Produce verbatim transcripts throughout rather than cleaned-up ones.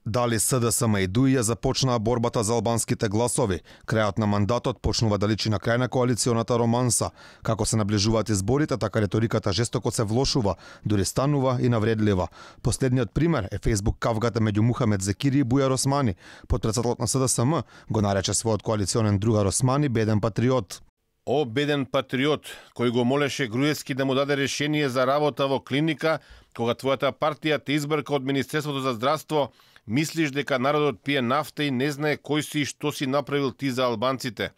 Дали СДСМ и ДУИ ја започнаа борбата за албанските гласови? Крајот на мандатот почнува да личи на крај на коалиционата романса. Како се наближуваат изборите, така риториката жестоко се влошува, дури станува и навредлива. Последниот пример е Facebook кавгата меѓу Мухамед Зекири и Бујар Османи. Потпредседателот на СДСМ го нарече својот коалиционен другар Османи беден патриот. О, беден патриот, кој го молеше Груевски да му даде решение за работа во клиника, кога твојата партија те избрка од Министерството за здравство, мислиш дека народот пие нафта и не знае кој си и што си направил ти за албанците?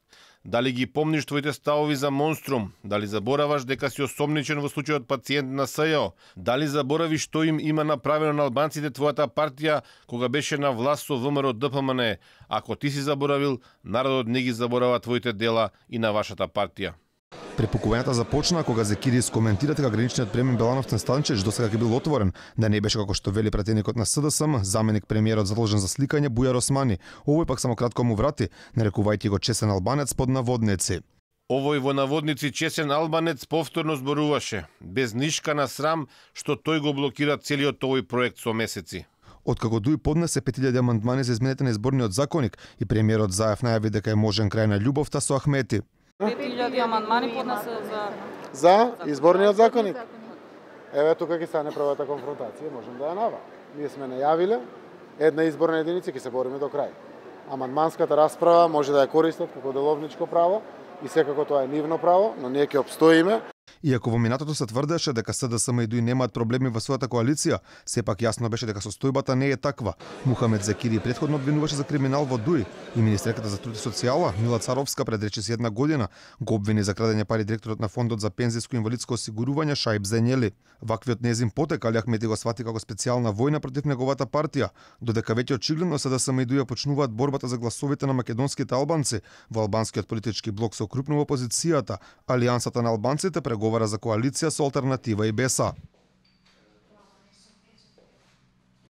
Дали ги помниш твоите ставови за Монструм? Дали забораваш дека си осомничен во случајот пациент на СЈО? Дали заборави што им има направено на албанците твојата партија кога беше на власт со ВМРО ДПМН? Ако ти си заборавил, народот не ги заборава твоите дела и на вашата партија. Препукувањата започнаа кога Зекири искоментира дека граничниот премиер Белановцен Станчевич досега ќе бил отворен, да не беше како што вели пратеникот на СДСМ, заменик премиерот задолжен за сликање Бујар Османи. Овој пак само кратко му врати, нарекувајќи го чесен албанец под наводници. Овој во наводници чесен албанец повторно зборуваше, без нишка на срам, што тој го блокира целиот овој проект со месеци. Откако ДУИ поднесе пет илјади амандмани за измените на изборниот законник и премиерот Заев најави дека е можен крај на љубовта со Ахмети. пет илјади амандмани поднесе за за изборниот законник. Еве тука ќе стане првата конфронтација, можем да ја нава. Ние сме најавиле една изборна единица, ќе се бориме до крај. Амандманската расправа може да ја користат како деловничко право и секако тоа е нивно право, но ние ќе обстоиме. Иако во минатото се тврдеше дека СДСМ и ДУИ немаат проблеми во својата коалиција, сепак јасно беше дека состојбата не е таква. Мухамед Зекири претходно обвинуваше за криминал во ДУИ и министерката за труд и социјала Мила Царовска пред речиси една година го обвини за крадење пари директорот на фондот за пензиско и инвалидско осигурување Шаиб Зенјели. Ваквиот незин потек Али Ахмети го свати како специјална војна против неговата партија, додека веќе очигледно СДСМ и ДУИ почнуваат борбата за гласовите на македонските албанци. Во албанскиот политички блок се окрупнува опозицијата, Алијансата на албанците преговара за коалиција со Алтернатива и БЕСА.